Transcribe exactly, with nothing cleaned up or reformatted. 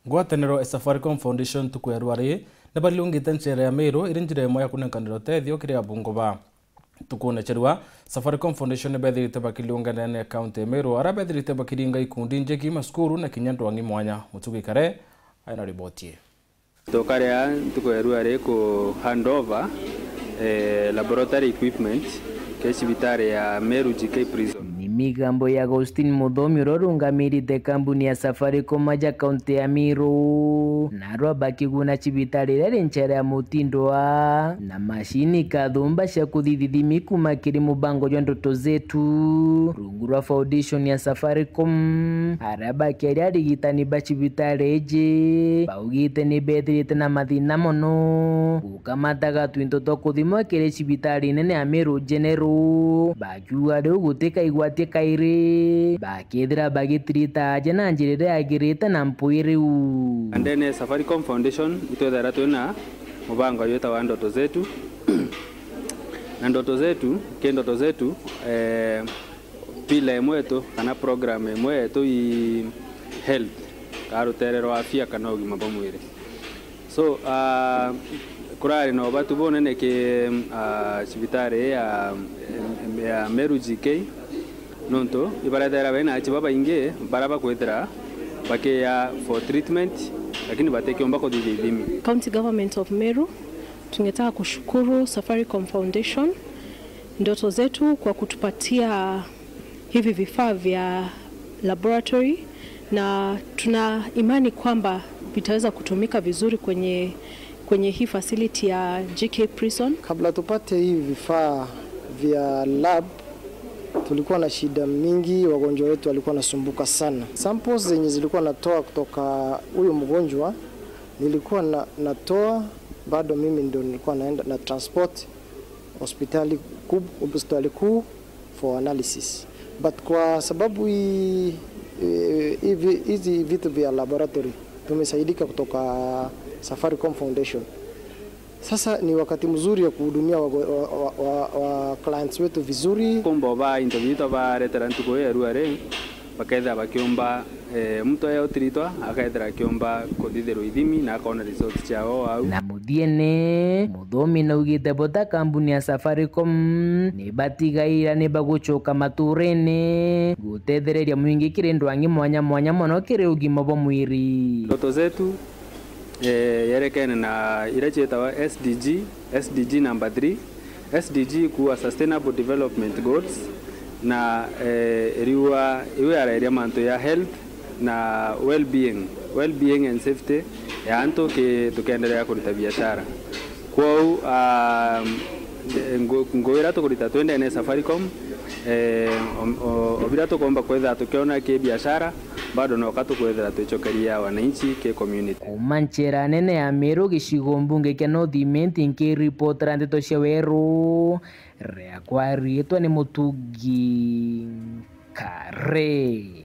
Ngwataniro ya Safaricom Foundation ntuku ya rwari ni bariungite nchere ya Meru iri njira imwe ya kunenkanira utethio kiri abungu ba. Ntukune cia rua, Safaricom Foundation ni bethirite bakiriungana na kaunti ya Meru, aria bethirite bakiringa ikundi njiki, macukuru na kinya ndwang'i mwanya. Mutugi Kare aina riboti ii. Tukaria ntuku ya rua ri ku hand over, eh, laboratory equipment ke cibitari ya Meru G K Prison. Ni migambo ya Augustine Muthomi uria urungamirite kambuni ya Safaricom aja kaunti ya Meru, narua bakiguna cibitari iria ri nchere ya Mutindwa na macini kathumba cia kuthithithimi kuma kiri mubango jwa Ndoto Zetu rungu rwa foundation ya Safaricom. Aria bakiaria arigitani ba cibitari iji baugite ni bethirite na mathina mono gukamataga twinto twa kuthimwa kiri cibitari nene ya Meru General, bakiuga riu gutikaigwatie kairi bakethira bagitirita aja na njira iria yagirite na mpwi riu. Ndene ya Safaricom Foundation itwethera twina mubango jwitawa Ndoto Zetu. Na Ndoto Zetu, ki Ndoto Zetu, eh, pila imwe yetu kana program imwe yetu i health, kana rutere rwa afya kana ugima bwa mwiri. So, ah, kurari na ubatu bunene ki, ah, cibitari ya, ya Meru G K, nontu ibarethera bena achi babaingi bara bakwithira bakiya for treatment, lakini batikiumba kuthithia ithimi. County Government of Meru, tungetaka kushukuru Safaricom Foundation, Ndoto Zetu, kwa kutupatia hivi vifaa vya laboratory, na tuna imani kwamba vitaweza kutumika vizuri kwenye, kwenye hii facility ya G K Prison. Kabla tupate hivi vifaa vya lab, tulikuwa na shida mingi, wagonjwa wetu walikuwa wanasumbuka sana. Samples zenye zilikuwa natoa kutoka huyo mgonjwa, nilikuwa na, natoa, bado mimi ndio nilikuwa naenda na transport hospitali kub-, hospitali kuu for analysis. But kwa sababu hii, eh, hivi, hizi vitu vya laboratory tumesaidika kutoka Safaricom Foundation. Sasa ni wakati mzuri ya kuhudumia wa, wa, wa, wa, wa clients wetu vizuri. Kumba ba into bitu baretera ntuku ya rua ri, bakethira bakiumba, eh, mtu aya utiritwa akethira akiumba kuthithirwa ithimi na akona results ciao au. Na muthiene, Muthomi naugite bo ta kambuni ya Safaricom ni batigaira ni bagucoka maturene gutethereria mwingi kiri ndwang'i mwanya mwanya mono kiri ugima bwa mwiri. Ndoto Zetu, eh, yerekene na iria cietawa S D G, S D G number three, S D G kuwa Sustainable Development Goals, na, eh, iriua iu yareria mantu ya health na well-being, well-being and safety ya antu ki-, tukiendelea kurita biashara. Kwou, ah, ngu-, ngugi iria tukurita twendene Safaricom, eh, o-, o-, o biria tukomba kwithira tukiona ki biashara, bado noka tukwithira twicokeria wananchi ki community. Kuma nchera nene ya Meru gicigo mbunge kia North Imenti, nkiripotera ndeto cia Weru, riakwa riitwa ni Mutugi Kare.